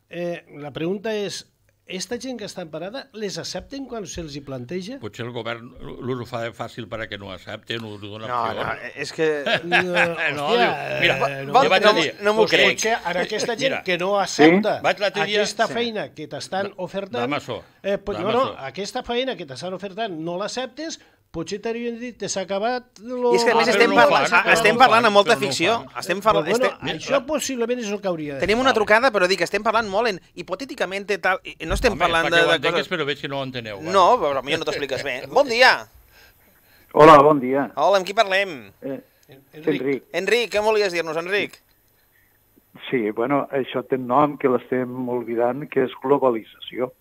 eh, la pregunta és, esta gent que està emparada, les accepten quan se'ls hi planteja? Potser el govern l'ho fa fàcil perquè no ho accepten, ho dona No, opció. no, és que... No, No, hòstia, diu, mira, eh, no, jo vaig a no, dir, no m'ho pues, crec. Potser ara aquesta gent Mira, que no accepta Vaig l'altre dia- aquesta Sí. feina que t'estan ofertant... D'Amazon, Eh, pues, no, no, d'Amazon. aquesta feina que t'estan ofertant no l'acceptes, potser t'haurien dit que s'ha acabat... Lo... I és que a Ah, més però estem, no ho parlant, fan, però estem no ho parlant fan, amb molta però no ho ficció. fan. Estem Però, parlant... bueno, estem... això possiblement és el que hauria de Tenim una trucada, però dic, estem parlant molt en hipotèticament i tal, i no estem Home, parlant fa de, que ho de entengues, coses... però veig que no ho enteneu. va. No, però potser no t'expliques bé. Bon dia! Hola, bon dia. Hola, amb qui parlem? Eh, Enric. Enric. Enric, què volies dir-nos, Enric? Sí, bueno, això té un nom que l'estem oblidant, que és globalització.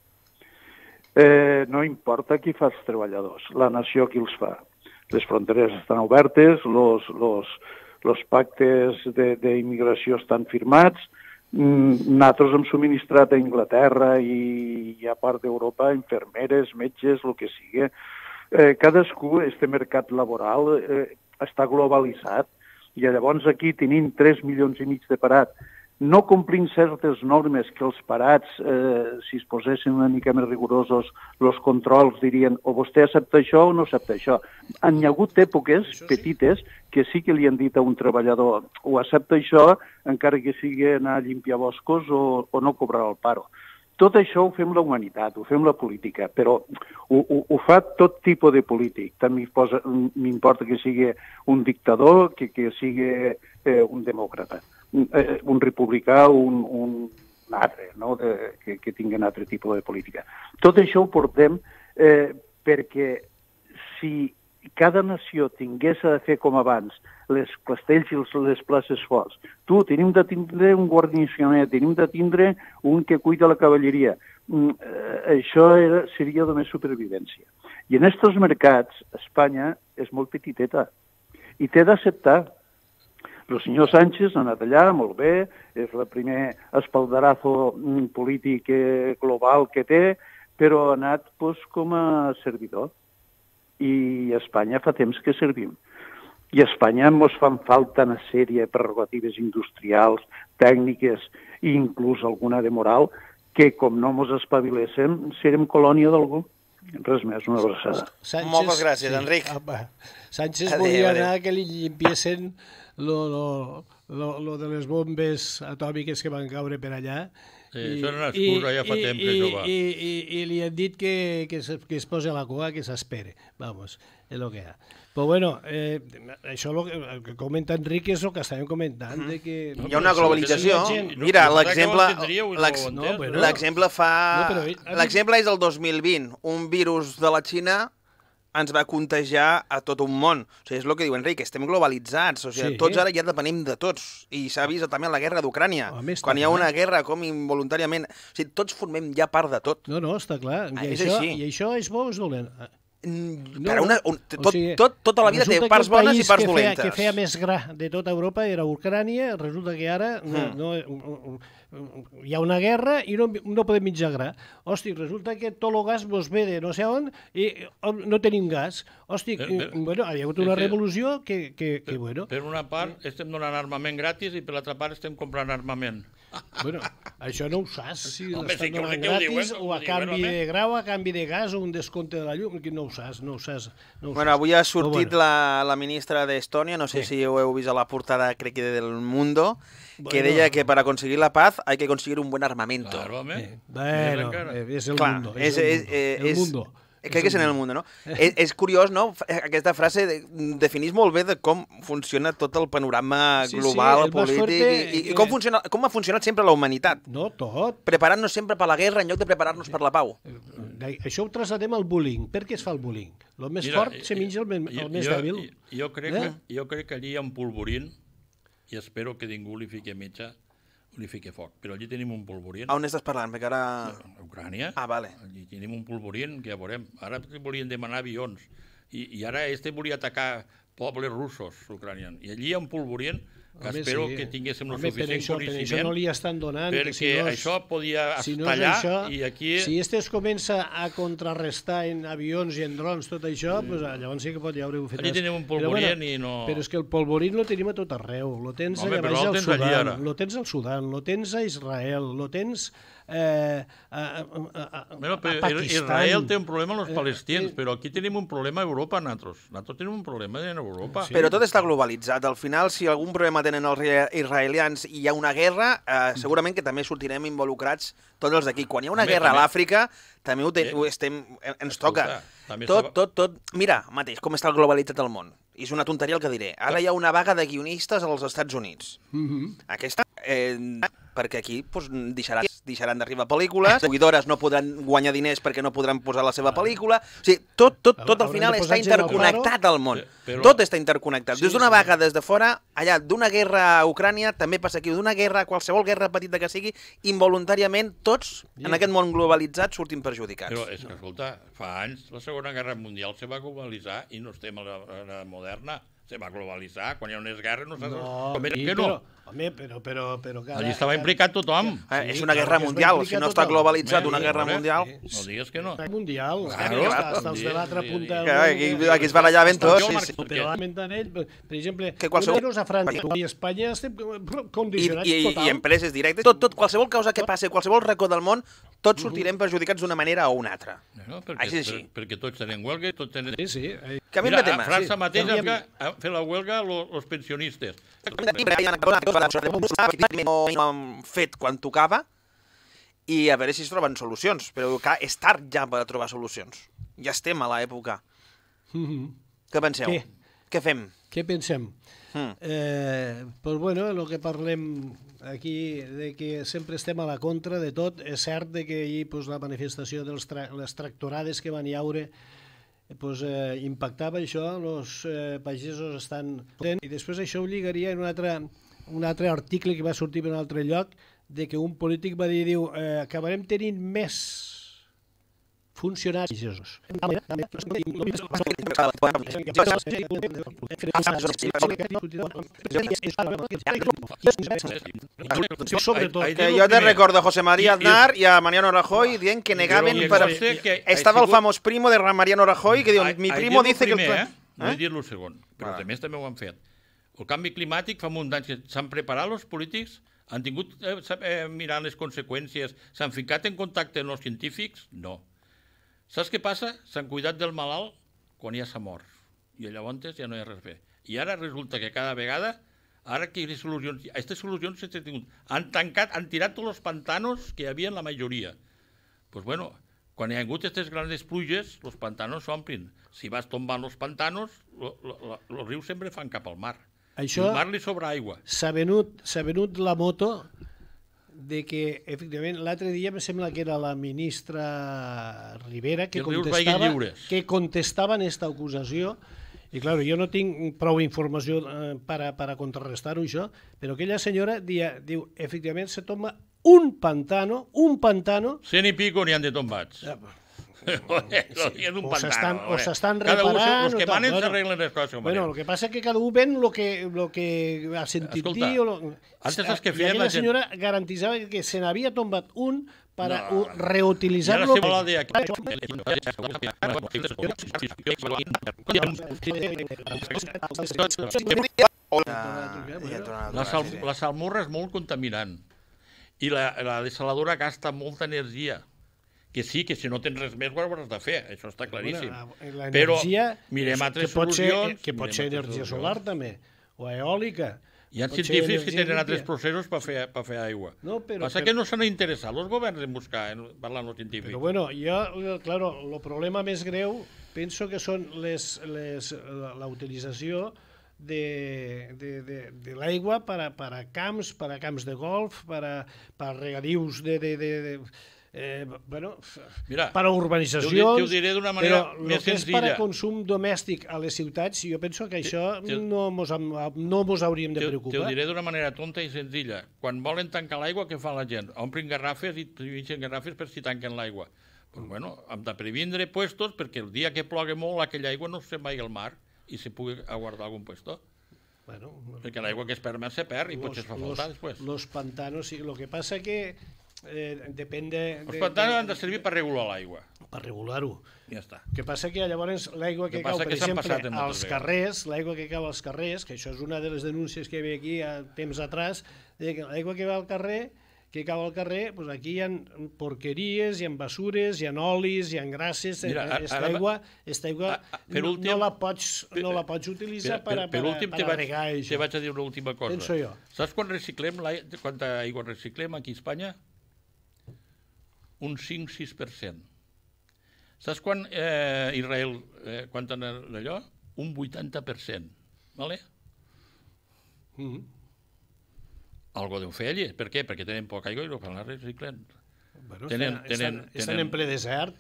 Eh, no importa qui fa els treballadors, la nació qui els fa. Les fronteres estan obertes, los, los, los pactes d'immigració estan firmats, mm, nosaltres hem subministrat a Anglaterra i, i a part d'Europa infermeres, metges, el que sigui. Eh, cadascú, este mercat laboral, eh, està globalitzat i llavors aquí tenim tres milions i mig de parat, no complint certes normes que els parats, eh, si es posessin una mica més rigorosos, els controls dirien o vostè accepta això o no accepta això. Han hi ha hagut èpoques petites que sí que li han dit a un treballador o accepta això, encara que sigui anar a limpiar boscos o, o no cobrar el paro. Tot això ho fem la humanitat, ho fem la política, però ho, ho, ho fa tot tipus de polític. També m'importa que sigui un dictador, que, que sigui eh, un demòcrata, un, eh, un republicà, un, un altre, no? de, que, que tingui un altre tipus de política. Tot això ho portem eh, perquè si cada nació tingués de fer com abans, les castells i les places forts. Tu, tenim de tindre un guarnicioner, tenim de tindre un que cuida la cavalleria. Mm, eh, això era, seria només supervivència. I en aquests mercats, Espanya és molt petiteta i té d'acceptar. El senyor Sánchez ha anat allà, molt bé, és el primer espaldarazo polític global que té, però ha anat pues, com a servidor. I a Espanya fa temps que servim. I a Espanya ens fan falta una sèrie de prerrogatives industrials, tècniques i inclús alguna de moral, que com no ens espaviléssim, serem colònia d'algú. Res més, una abraçada. Sánchez, moltes gràcies, sí. Enric. Sánchez adeu, volia adeu. anar que li llimpiessin lo, lo, lo, lo de les bombes atòmiques que van caure per allà. Sí, I, això era una excusa, ja fa i, temps que això va. I, i, i li han dit que, que, es, que es posi a la cua, que s'espere. Vamos, és el que hi ha. Però bueno, eh, això lo que, el que comenta Enric és el que estàvem comentant. Mm. De que, no, hi ha una globalització. Mira, l'exemple l'exemple fa... L'exemple és el dos mil vint. Un virus de la Xina ens va contagiar a tot un món. O sigui, és el que diu Enric, estem globalitzats. O sigui, sí. Tots ara ja depenim de tots. I s'ha vist també en la guerra d'Ucrània. Quan hi ha una guerra, com involuntàriament... O sigui, tots formem ja part de tot. No, no, està clar. I, ah, això, I això és bo o és dolent? No, per una, un, tot, o sigui, tot, tota la vida té parts bones i parts que dolentes. El que feia més gra de tota Europa era Ucrània, resulta que ara mm. no, no, hi ha una guerra i no, no podem menjar gra. Hosti, resulta que tot el gas mos ve de no sé on i no tenim gas. Hosti, per, per, bueno, hi ha hagut una revolució que, que, que per, bueno... Per una part estem donant armament gratis i per l'altra part estem comprant armament. Bueno, això no ho saps, si l'estan donant gratis o a canvi de grau, a canvi de gas o un descompte de la llum, no ho saps, no ho saps. No ho bueno, saps. Avui ha sortit bueno. la, la ministra d'Estònia, no sé sí. si ho heu vist a la portada, crec que del Mundo, bueno. que deia que per aconseguir la paz hay que conseguir un buen armamento. Claro, sí. Bueno, és el Clar, mundo. És, és, és, el mundo. Crec que és en el Mundo, no? és, és curiós, no? Aquesta frase de, definís molt bé de com funciona tot el panorama sí, global, sí, polític, i, i com, funciona, com ha funcionat sempre la humanitat. No, tot. Preparant-nos sempre per la guerra en lloc de preparar-nos per la pau. Això ho traslladem al bullying. Per què es fa el bullying? El més Mira, fort se menja el, el jo, més jo, dèbil. Jo, jo, crec eh? que, jo crec que allí hi ha un polvorín i espero que ningú li fiqui mitja li fiqui foc. Però allí tenim un polvorín. On estàs parlant? Perquè ara... A Ucrània. Ah, vale. Allí tenim un polvorín que ja veurem. Ara volien demanar avions. I, i ara este volia atacar pobles russos ucranians. I allí hi ha un polvorín que Home, espero sí. que tinguéssim el suficient per això, coneixement. Per això no li estan donant. Perquè si no és, això podia si no estallar això, i aquí... Si este es comença a contrarrestar en avions i en drons tot això, sí. pues, llavors sí que pot haure fet. Allí tenim un polvorín bueno, i no... Però és que el polvorín lo tenim a tot arreu. Lo tens Home, allà baix al Sudan, lo tens al Sudan, lo tens a Israel, lo tens... Eh, a, a, a, bueno, a Pakistan. Israel té un problema amb els palestins, eh, però aquí tenim un problema a Europa, nosaltres. Nosaltres tenim un problema en Europa. Sí. Però tot està globalitzat. Al final, si algun problema tenen els israelians i hi ha una guerra, eh, segurament que també sortirem involucrats tots els d'aquí. Quan hi ha una també, guerra també. a l'Àfrica, també ho, ten, ho estem, ens toca. Escolta, tot, tot, tot... Mira, mateix, com està globalitzat el món. I és una tonteria el que diré. Ara hi ha una vaga de guionistes als Estats Units. Mm-hmm. Aquesta... Eh, perquè aquí doncs, deixaran, deixaran d'arribar pel·lícules, les seguidores no podran guanyar diners perquè no podran posar la seva pel·lícula. O sigui, tot, tot, tot al final està interconnectat al món. Però... Tot està interconnectat. Sí, des d'una sí. vaga des de fora, allà d'una guerra a Ucrània, també passa aquí, d'una guerra, qualsevol guerra petita que sigui, involuntàriament tots, yeah. en aquest món globalitzat, surtin perjudicats. Però és que, escolta, fa anys la Segona Guerra Mundial se va globalitzar i no estem a la, a la moderna. Se va globalitzar, quan hi ha unes guerres no saps... No, com sí, que no? Però, home, però... però, però cada, allí estava implicat tothom. Eh, és una guerra mundial, si no està globalitzat una guerra mundial... No digues que no. Mundial, claro, està els de l'altra punta... Aquí, aquí es barallar tots. Sí, sí. Però ell, per exemple, que qualsevol... a França i a Espanya estem condicionats I, i, total. I empreses directes, tot, tot, qualsevol causa que passi, qualsevol racó del món, tots sortirem perjudicats d'una manera o una altra. No, perquè, així és així. Per, perquè tots tenen huelga, tots tenen... Sí, sí. Canviem de tema. A França sí. mateix Canviem... ha fet la huelga els pensionistes. No han fet quan tocava i a veure si es troben solucions. Però és tard ja per trobar solucions. Ja estem a l'època. Mm-hmm. Què penseu? Què? Què fem? Què pensem? Mm. Eh, pues bueno, el que parlem aquí, de que sempre estem a la contra de tot, és cert de que ahir pues, la manifestació de tra les tractorades que van hi haure pues, eh, impactava això, els eh, pagesos estan... I després això ho lligaria en un altre, un altre article que va sortir en un altre lloc, de que un polític va dir, diu, eh, acabarem tenint més funcionaris pagesos. Que jo te recordo a José María Aznar i a Mariano Rajoy dient que negaven... Per... Estava el famós primo de Mariano Rajoy que diu, mi primo dice que... No he dit el segon, però també també ho han fet. El canvi climàtic fa un anys que s'han preparat els polítics, han tingut eh, mirant les conseqüències, s'han ficat en contacte amb els científics? No. Saps què passa? S'han cuidat del malalt quan ja s'ha mort. I llavors ja no hi ha res a fer. I ara resulta que cada vegada, ara que les solucions, aquestes solucions s'han tingut, han tancat, han tirat tots els pantanos que hi havia en la majoria. Doncs pues bueno, quan hi ha hagut aquestes grans pluges, els pantanos s'omplin. Si vas tombant els pantanos, els rius sempre fan cap al mar. Això el mar li sobra aigua. S'ha venut, s'ha venut la moto de que, efectivament, l'altre dia em sembla que era la ministra Rivera que contestava, que contestava en aquesta acusació, i clar, jo no tinc prou informació eh, per, a, per a contrarrestar-ho això, però aquella senyora dia, diu, efectivament, se tomba un pantano, un pantano... Cent i pico n'hi han de tombats. Ja, o s'estan o s'estan reparant... Els que manen s'arreglen les coses. Bueno, el que passa és que cada un ven el que, lo que ha sentit Escolta, dir... Lo... Antes els que feien I la la gent... senyora garantitzava que se n'havia tombat un per no, reutilitzar-lo... I ara se de... La, sal, la salmorra és molt contaminant i la, la desaladora gasta molta energia. Que sí, que si no tens res més ho hauràs de fer, això està claríssim. Bueno, però mirem altres solucions... Que pot ser energia solar també, o eòlica. Hi ha científics que tenen altres processos per fer, per fer aigua. No, però, Passa però... que no s'han interessat els governs en buscar, en parlar amb els científics. Però bueno, jo, claro, el problema més greu penso que són les, les, la utilització de, de, de, de l'aigua per a, per a camps, per a camps de golf, per a, per a regadius de... de, de, de Eh, bueno, Mira, per a urbanitzacions, ho diré d'una manera però més el que és senzilla. per a consum domèstic a les ciutats, jo penso que això te, no mos, no mos hauríem de preocupar. Te ho diré d'una manera tonta i senzilla. Quan volen tancar l'aigua, què fa la gent? Omplen garrafes i pinxen garrafes per si tanquen l'aigua. Pues bueno, hem de previndre puestos perquè el dia que plogui molt aquella aigua no se'n vagi al mar i se pugui aguardar algun puesto. Bueno, perquè l'aigua que es perd se perd i potser es fa faltar després. Los pantanos, sí, lo que passa que Eh, depèn de... Els pantanos han de servir per regular l'aigua. Per regular-ho. Ja està. El que passa que llavors l'aigua que, que cau, per que exemple, als carrers, l'aigua que cau als carrers, que això és una de les denúncies que hi havia aquí a temps atrás, l'aigua que va al carrer, que cau al carrer, doncs aquí hi ha porqueries, hi ha basures, hi ha olis, hi ha grasses, aquesta aigua, aquesta aigua no, últim, no, la pots, no la pots utilitzar per, per, per, per, per a regar això. Te vaig a dir una última cosa. Penso jo. Saps quan reciclem, quanta aigua reciclem aquí a Espanya? Un cinc sis per cent. Saps quan eh, Israel, eh, quan d'allò? Un vuitanta per cent. Vale? Mm-hmm. Algo deu fer allí. Per què? Perquè tenen poca aigua i no fan la reciclen. Bueno, tenen, estan, tenen, estan tenen... en ple desert.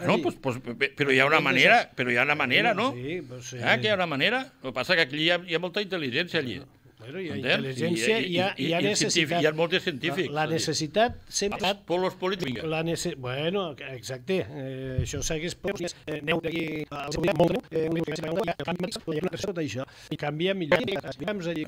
No, pues, pues, però hi ha una manera, però hi ha una manera, no? Sí, pues, sí. Ah, que hi ha una manera. El que passa que aquí hi ha, hi ha molta intel·ligència allí. Bueno, hi ha intel·ligència i hi ha, hi ha necessitat. Hi ha molts científics. La, la necessitat sempre... Per los polítics. La nece... Bueno, exacte. Eh, això segueix... Eh, aneu d'aquí... Això. I canvia millor. Canviem allí.